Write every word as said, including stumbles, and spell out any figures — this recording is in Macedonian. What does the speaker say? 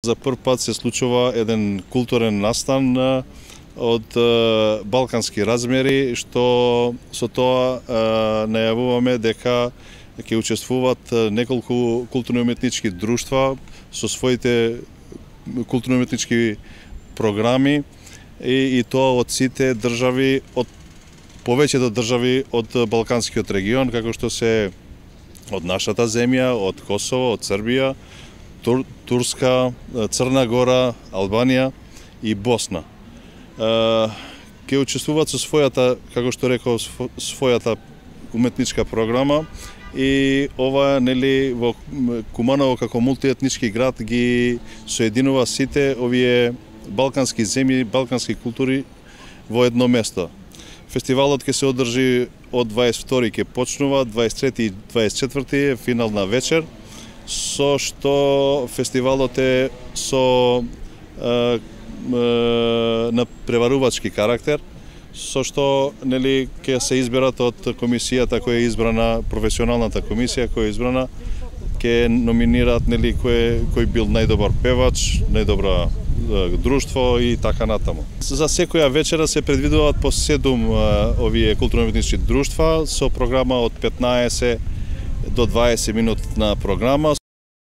За прв пат се случува еден културен настан од балкански размери, што со тоа најавуваме дека ќе учествуваат неколку културно-уметнички друштва со своите културно-уметнички програми и, и тоа од сите држави, од повеќето држави од балканскиот регион, како што се од нашата земја, од Косово, од Србија, Тур, Турска, Црна Гора, Албанија и Босна. Ке учествуваат со својата, како што реков, својата уметничка програма и ова, нели, во Куманово како мултиетнички град ги соединува сите овие балкански земји, балкански култури во едно место. Фестивалот ќе се одржи од дваесет и втори ќе почнува, дваесет и трети и дваесет и четврти е финална вечер, со што фестивалот е со е, е, на преварувачки карактер, со што нели ќе се изберат од комисијата која е избрана, професионалната комисија која е избрана, ќе номинираат нели кој кој бил најдобар певач, најдобра друштво и така натаму. За секоја вечера се предвидуваат по седум овие културно-уметнички друштва со програма од петнаесет до дваесет минутна програма.